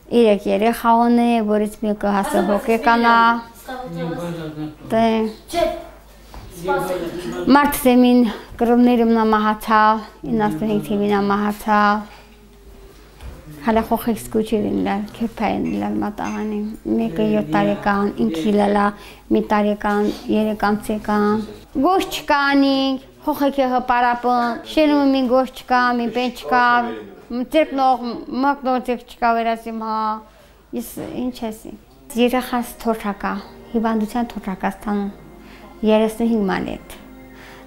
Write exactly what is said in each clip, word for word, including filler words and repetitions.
Իրեք երեխա ունի, որից մեկը հասը հոգեկան է։ Մարտսեմին կրովներում նա մահացալ, իննասունհինգ թիվին նա մահացալ։ Հալա խոխեք սկուչերին լար, կեպային լար մատաղանի, մեկը յոթ տարեկան, ինքի լալա, մի տարեկան, երեկան ծեկան։ Գոշ չկանինք, խոխեք է հպարապն, շերում մի գոշ չկա, մի պեն չկա, ծերկնող, մակնող ծերկ չկա վերասիմ հա, ես ինչ եսի։ Երեխաս թորհակա, հիվանդության թորհակա ստանում, երեսնհինգ մանետ,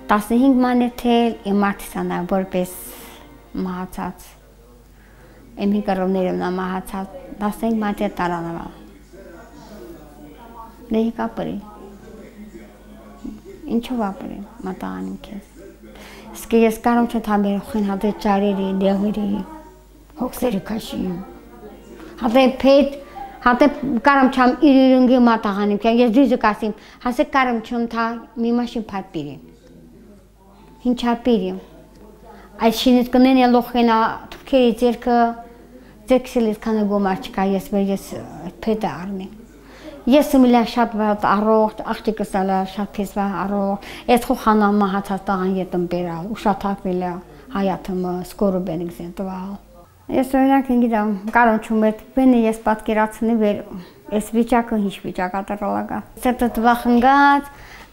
տասնհինգ մանետ էլ իմ մարդիսանա, որպես մահացած, իմ հիկարովներում նա մահացած, տասնհինգ մանետ տարանավալ, նեհիկ ապրի, ինչով ապրի, մատաղանիմ կեզ, սկի ես կարում չը թամեր խին հատե ճարերի, դեղերի, հոգսերի կաշիմ, հատե պետ, հատե կարամ չամ իրիրունգի մատաղանիմ կեզ, ես դույզը կասիմ, հասե կարամ չում թա մի մաշին պատ պիրիմ, հինչա պիրիմ, այս շինից կնեն ելող խենա թուրքերի ձերքը, ձերքսելից կանը գոմար չկա, ես մեր ես պետը արմի, ես միլա շատ վատ առողջ, աղջիկս ալա շատ փեսվա առողջ, ես խոխանա մահացած տաղան ետում բերալ, ուշաթակվել է հայաթումը, սկորը բենիք զենտվալ։ Ես օրինակ ինգիդամ, կարում չում էտ, բենի ես պատկերացնի վեր, ես վիճակը հինչ վիճակա տրալագա։ Սեպտը տվախնգած,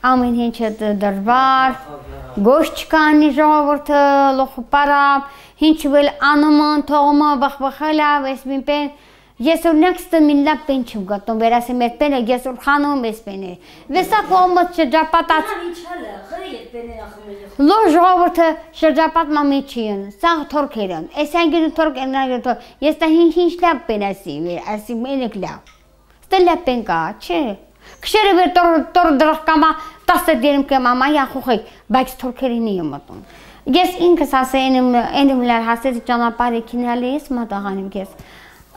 ամեն հինչ է դրվար, գոշ չկանի ժողովորդը, լոխը պարապ, հինչ վել անումն, թողումը, բախբախելավ, ես մին պեն, ես օրինակ ստը մինլա պեն չում գտնում, վերասեմ էտ պեն է, ես որ խանում ես պեն է։ Վեսա կողմըց շրջապատած։ Լո ժողովորդը շրջապատ մամի չիին, սաղ թորքեր են, ես անգիրու թորք ենագիր թորք, ես տա հինչ հինչ լապ պեն ասի, ասի մենեք լապ։ Ստը լապ պեն կա, չէ։ Քշերը վեր տոր դրախ կամա, տասը դերում կեմ ամա յախուխեք, բայց թորքերին եմ մտում։ Ես ինքս ասե ենիմ լար հասեցի ճանապարի կինալի ես մատաղանիմ կես։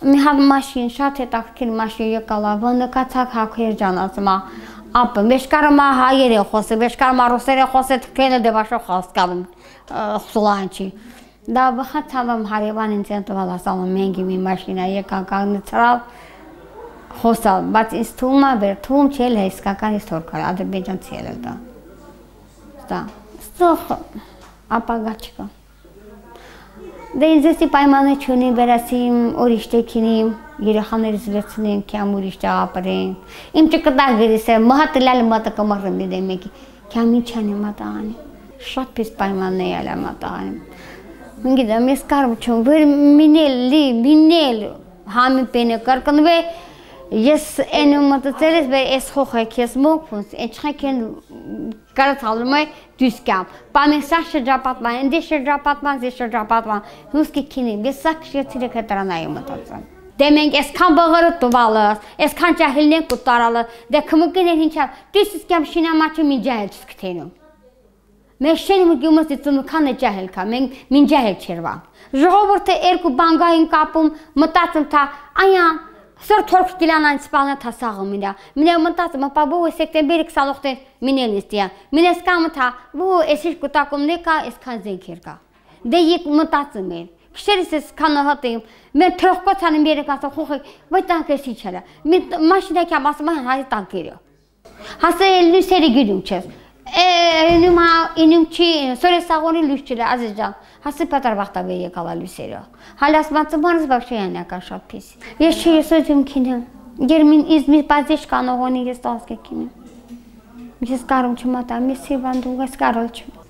Մի հատ մաշին, շատ հետաքրքիր մաշին եկալա, վնկացակ հակեր ջանացմա, ապը, մեշկարմա հայեր է խոսը, մեշկարմա ռուսեր է խոսը, թքենը դեվաշո խոսկալում, խսուլանչի։ Դա վխատ ցավամ հարևան ինձ ենտվալ ասալում մենգի մի մաշինա եկան կաղնի ծրալ, խոսալ, բայց ինձ թում է վեր, թում չել է իսկական ես թորքար, ադրբեջան ցել է դա։ Դա, ստող ապագա չկա։ Դե ինձ եսի պայմանը չունի վերասիմ ուրիշ տեքինիմ, երեխաներից վերցնենք, կյամ ուրիշ ճաղապրենք, իմ չկտակ գրիս է, մհատը լալը մատը կմարրմ դիդեմ եկի, կյամ ինչ անի մատաղանի, շատ պիս պայմանն է ալա մատաղանի, մին գիտեմ, ես կարում չում, վեր մինել, լի, մինել, համի պենը կրկնվե, ես են մտծել ես վեր ես խոխեք, ես մոքվունս, են չխեք են կարացալում է դուսկամ, պամեն սա շրջապատման, ենդի շրջապատման, զի շրջապատման, հուսկի կինիմ, ես սա կշեցիր եք հետրանայի մտածան։ Դե մենք եսքան բղրը տուվալս, եսքան ճահիլնեն կուտարալը, դե կմուկին են հինչավ, դույս իսկյամ շինամաչը մին ճահել չսկթենում։ Մենք շեն մուկիմս դիծունուքան է ճահել կա, մենք մին ճահել չերվան։ Ժողովորդը երկու բանգային կապում, մտածում թա, այան, Սոր թորք կիլանան սպալնա թասաղը մինա, մինա մտածում, ապա բու սեկտեմբերի կսալողտեն մինեն իստիա, մինես կամը թա, բու էսիշ կուտակում նեկա, էսքան զենքեր կա, դե եկ մտածում են, քշերիս ես քանը հատեում, մեր թրողկոց հանում երեք ասա խուխեք, վայ տանք էսի չելա, մաշինակ եմ ասում են հայ տանքերը, հասը լույսերի գիրում չես, Ինումա ինում չի սորես սաղոնի լույս չիլը ազիզ ջան, հասի պատար վաղտավեր եկալա լույսերը, հալաս մացմարս բաղշեյան յակա շատ պիս, ես չի ես ոյցում կինեմ, գերմին իզմի պազիչ կանողոնի ես տասկե կինեմ, ես կարում չմատամ, ես սիրվանդում, ես կարոլ չմ։